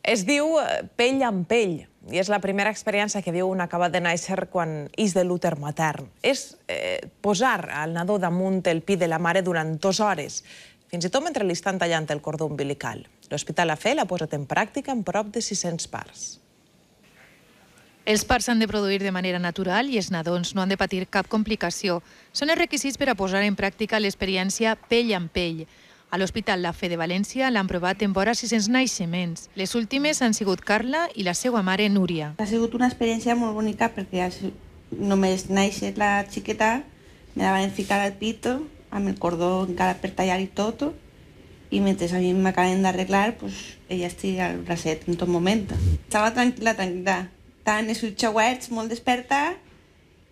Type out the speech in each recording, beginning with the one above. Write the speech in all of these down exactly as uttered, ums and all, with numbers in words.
Es diu pell amb pell i és la primera experiència que viu un acabat de néixer quan ix de l'úter matern. És eh, posar al nadó damunt el pit de la mare durant dues hores, fins i tot mentre li estan tallant el cordó umbilical. L'Hospital A F E l'ha posat en pràctica en prop de sis-cents parts. Els parts s'han de produir de manera natural i els nadons no han de patir cap complicació. Són els requisits per a posar en pràctica l'experiència pell amb pell. A l'Hospital A F E de València l'han provat en vora sis-cents naixements. Les últimes han sigut Carla i la seva mare, Núria. Ha sigut una experiència molt bonica perquè només néixer la xiqueta me la van ficar al pito amb el cordó encara per tallar i tot, i mentre a mi m'acaben d'arreglar, pues, ella estigui al bracet en tot moment. Estava tranquil·la, tranquil·la. Estaven els ulls oberts, molt desperta,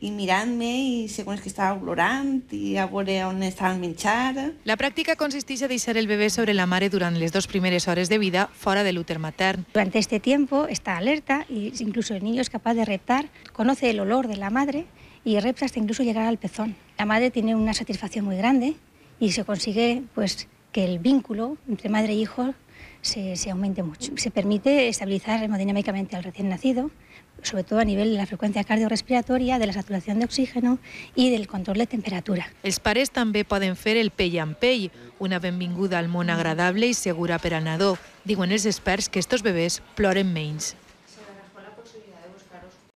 i mirant-me, i segons que estava plorant, i a veure on estava el menjar. La pràctica consisteix a deixar el bebé sobre la mare durant les dos primeres hores de vida fora de l'úter matern. Durante este tiempo está alerta y incluso el niño es capaz de reptar, conoce el olor de la madre y repta hasta incluso llegar al pezón. La madre tiene una satisfacción muy grande y se consigue pues, que el vínculo entre madre e hijo se, se aumente mucho. Se permite estabilizar hemodinámicamente al recién nacido, sobre todo a nivel de la frecuencia cardiorrespiratoria, de la saturación de oxígeno i del control de temperatura. Els pares també poden fer el pell amb pell, una benvinguda al món agradable i segura per al nadó. Diuen els experts que estos bebès ploren menys.